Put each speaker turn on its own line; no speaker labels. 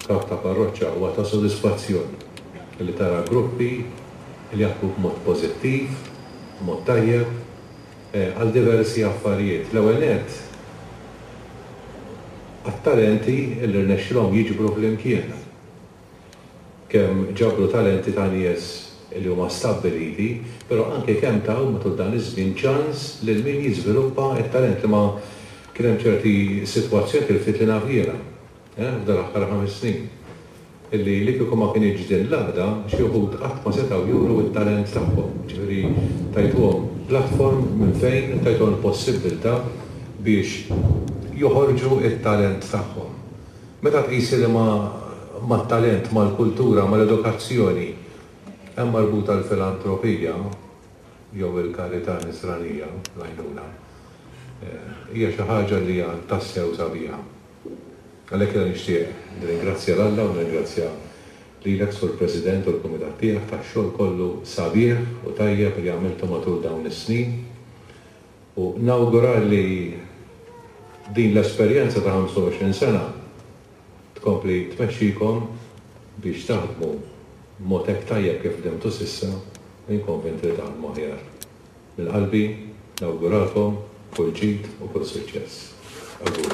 kap ta' parroċċa huwa ta' sodisfazzjon li tara gruppi li jaħdmu b'mod pożittiv, b'mod tajjeb, għal diversi affarijiet. L-ewwel nett, għat-talenti li rnexxilhom jiġbru flimkien. Kemm ġabru talenti ta' nies li huma stabbiliti, però anke kemm taw matul dan iż-żmien ċans lil min jiżviluppa t-talent li ma kien hemm ċerti sitwazzjonijiet il-ftit li naf jiena, f'dal-aħħar ħames snin, illi li kieku ma kinitx din l-għaqda, xi wħud qatt ma setgħu juru t-talent tagħhom. Jiġifieri tajtuhom platform minn fejn tajtuhom il-possibbiltà biex joħorġu t-talent tagħhom. Meta tqis li mat-talent, mal-kultura, mal-edukazzjoni hemm marbuta l-filantropija jew il-karità nisranija, l-għajnuna, hija xi ħaġa li hija tassew sabiħa. Għalhekk jiena nixtieq nirringrazzja 'l Alla u nirringrazzja lilek Sur President u l-kumitat tiegħek tax-xogħol kollu sabiħ u tajjeb li għamiltu matul dawn is-snin u nawgura li din l-esperjenza ta' 25 sena tkompli tmexxikom biex taħdmu b'mod hekk tajjeb kif ħdimtu s'issa u jien konvint li taħdmu aħjar. Minn qalbi nawguralkom kull ġid u kull suċċess. Awguri.